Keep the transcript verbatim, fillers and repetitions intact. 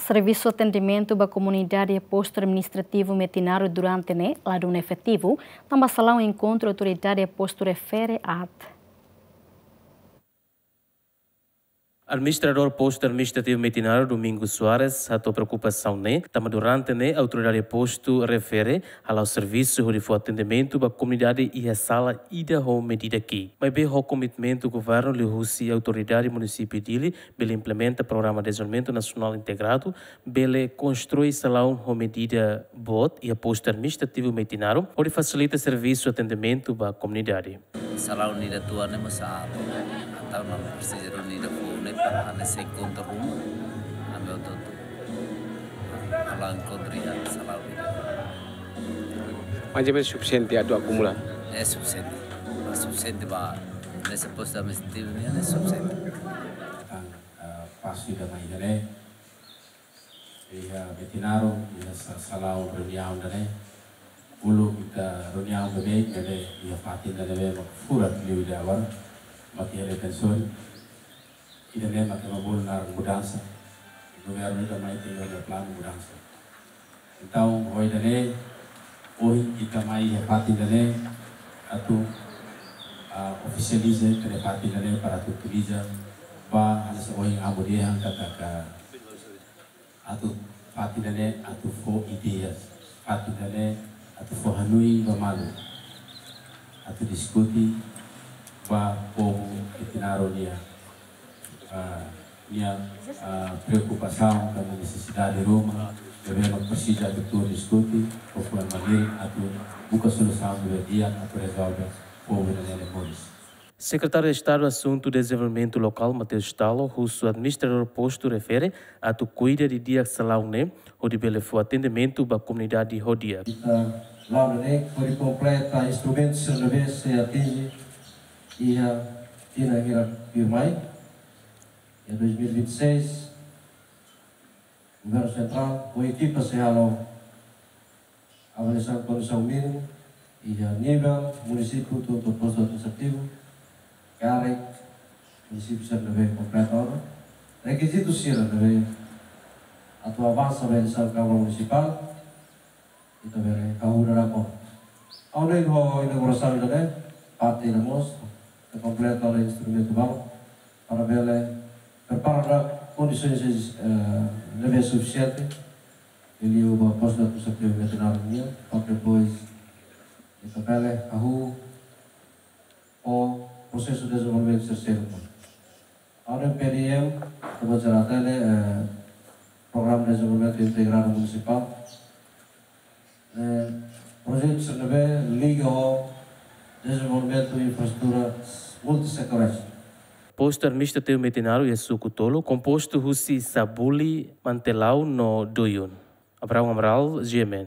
Servisu atendimentu ba komunidade iha postu administrativu Metinaro durante ne'e la dún efetivu, tanba salaun enkontru autoridade iha postu refere aat. Administradór postu administrativu Metinaro, Domingos Soares, hato'o preokupasaun ne'e, tanba durante ne'e autoridade postu refere hala'o servisu hodi fó atendimentu ba komunidade iha sala ida ho medida ki'ik. Maibé ho komitmentu governu liuhusi autoridade munisípiu Dili bele implementa programa dezenvolvimentu nasionál integradu, bele konstrui salaun ho medida boot iha postu administrativu Metinaro, hodi fasilita servisu atendimentu ba komunidade. Salaun ida tua ne'e mós aat, entaun ami presiza duni ida foun ne'e para ami sei enkontru ruma, ami hotu-hotu halo enkontru iha salaun ida. Mais ou menos sufisiente atu akumula? É sufisiente. Sufisiente ba, nesse posto administrativo ne'e é sufisiente. Tan, ah, pasu ida mai ida-ne'e. Iha Metinaro, iha sa-, salaun reuniaun ida-ne'e. Uluk ita reuniaun beibeik, maibé iha fatin ida-ne'ebé mak furak liu ida agora, mak iha retensaun. Ida-ne'e mak ema bolu naran mudansa. Governu ida mai tenke iha planu mudansa. Entaun, ho ida-ne'e, ohin ita mai iha fatin ida-ne'e, atu, ah, ofisializa ita-nia fatin ida-ne'e para atu utiliza ba hanesan ohin Amu dehan katak atu fatin ida-ne'e atu fó ideias, fatin ida-ne'e atu fó hanoin ba malu, atu diskute ba povu Metinaro nia, ah, nia, ah, preokupasaun ka nesesidade ruma, ne'ebé mak presiza atu tuur diskute, ho fuan malirin atu buka solusaun ne'ebé di'ak atu rezolve povu nia moris. Sekretáriu Estadu Asuntu Dezenvolvimentu Lokál, Mateus Talo, husu administradór postu refere atu kuida didi'ak salaun ne'e, hodi bele fó atendimentu ba komunidade ho di'ak. Ita la'o ne'e hodi kompleta instrumentu sira ne'ebé sei atinje iha tinan hirak tuirmai, iha dois mil e vinte e seis, Governu Sentrál ho ekipa sei halo avaliasaun kondisaun mínimu iha nivel munisípiu to'o postu administrativu, karik munisípiu sira ne'ebé kompleta ona rekizitu sira ne'ebé atu avansa ba eleisaun Kámara Munisipál, ita bele hahú dadauk ona. Ha'u hanoin ho inaugurasaun ida-ne'e, parte ida mós, ita kompleta ona instrumentu balu, para bele prepara kondisaun, eh, ne'ebé sufisiente, liuliu ba postu administrativu Metinaro nian, para depois ita bele hahú ho prosesu dezenvolvimentu sira seluk. Ha'u hanoin P D M, ita bele hatene, eh, Programa Dezenvolvimentu Integradu Munisipál, eh, projetu sira ne'ebé liga ho dezenvolvimentu infraestrutura multisetoriál. Postu administrativu Metinaro iha suku tolu, kompostu husi Sabuli, Mantelau no Doyun. Abraão Amaral, G M N.